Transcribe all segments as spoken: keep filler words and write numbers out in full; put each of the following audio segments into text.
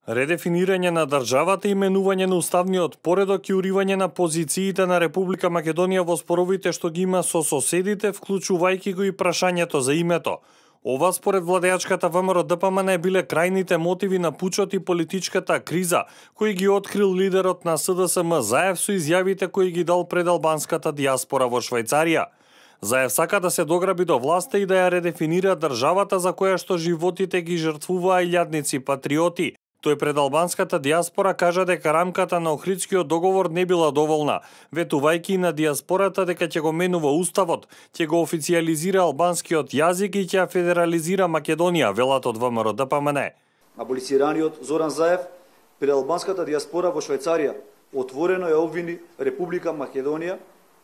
Редефинирање на државата, именување на уставниот поредок и уривање на позициите на Република Македонија во споровите што ги има со соседите, вклучувајќи го и прашањето за името. Ова според владеачката ВМРО-ДПМН биле крајните мотиви на пучот и политичката криза, кои ги открил лидерот на СДСМ Заев со изјавите кои ги дал пред албанската диаспора во Швајцарија. Заев сака да се дограби до власта и да ја редефинира државата за која што животите ги жртвуваа илјадници патриоти. Тој пред албанската диаспора кажа дека рамката на Охридскиот договор не била доволна, ветувајќи на диаспората дека ќе го менува уставот, ќе го официјализира албанскиот јазик и ќе федерализира Македонија, велат од ВМРО-ДПМН. Аболицираниот Зоран Заев пред албанската диаспора во Швајцарија отворено ја обвини Република Македонија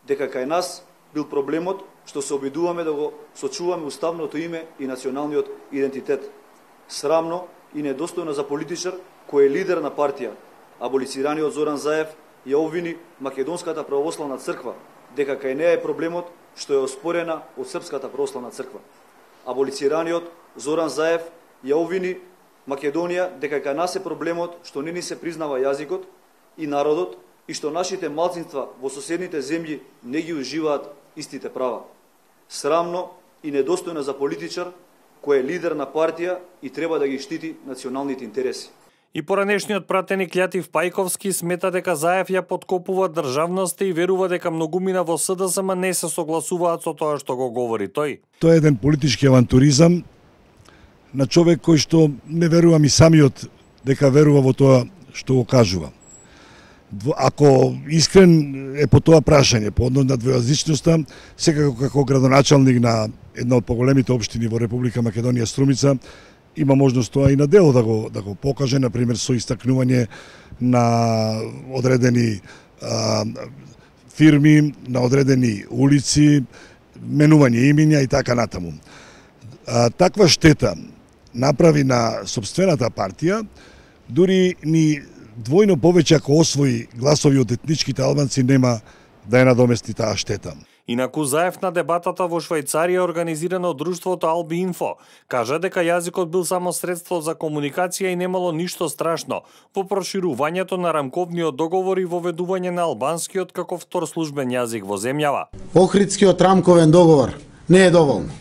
дека кај нас бил проблемот што се обидуваме да го сочуваме уставното име и националниот идентитет. Срамно и недостојно за политичар кој е лидер на партија. Аболицираниот Зоран Заев ја обвини Македонската православна црква дека кај неа е проблемот што е оспорена од Српската православна црква. Аболицираниот Зоран Заев ја обвини Македонија дека кај нас е проблемот што не ни се признава јазикот и народот и што нашите малцинства во соседните земји не ги уживаат истите права. Срамно и недостојно за политичар кој е лидер на партија и треба да ги штити националните интереси. И поранешниот пратеник Лјатив Пајковски смета дека Заев ја подкопува државноста и верува дека многумина во СДСМ не се согласуваат со тоа што го говори тој. Тоа е еден политички авантуризам на човек кој што не верувам и самиот дека верува во тоа што го кажува. Ако искрен е по тоа прашање, по однос на двојазичноста, секако како градоначалник на една од поголемите општини во Република Македонија, Струмица, има можност тоа и на дело да го да го покаже, на пример со истакнување на одредени а, фирми, на одредени улици, менување имиња и така натаму. А, таква штета направи на сопствената партија, дури ни двојно повеќе ако освои гласови од етничките албанци нема да ја надомести таа штета. Инаку Заев на дебатата во Швајцарија организирана од друштвото Алби Инфо кажа дека јазикот бил само средство за комуникација и немало ништо страшно во проширувањето на рамковниот договор и воведување на албанскиот како втор службен јазик во земјава. Охридскиот рамковен договор не е доволно.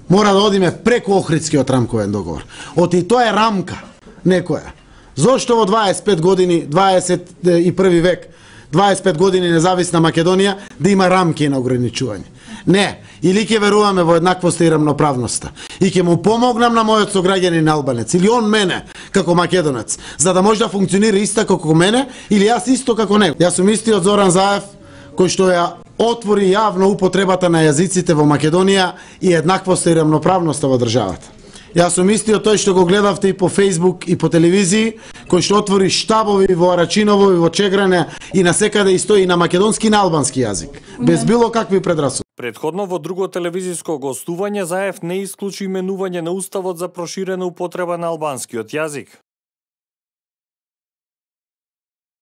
Мора да одиме преку Охридскиот рамковен договор. Оти тоа е рамка некоја. Зошто во дваесет и пет години, дваесет и први век, дваесет и пет години независна Македонија да има рамки на ограничување? Не, или ќе веруваме во еднаквоста и рамноправноста и ќе му помогнам на мојот сограѓанин албанец или он мене како македонец, за да може да функционира исто како мене или јас исто како него. Јас сум истиот Зоран Заев кој што ја отвори јавно употребата на јазиците во Македонија и еднаквоста и рамноправноста во државата. Јас сум истиот тој што го гледавте и по Facebook и по телевизии, кој што отвори штабови во Арачиново и во Чегране и насекаде и стои на македонски и на албански јазик, без било какви предрасуди. Предходно во друго телевизиско гостување Заев не исклучи именување на уставот за проширена употреба на албанскиот јазик.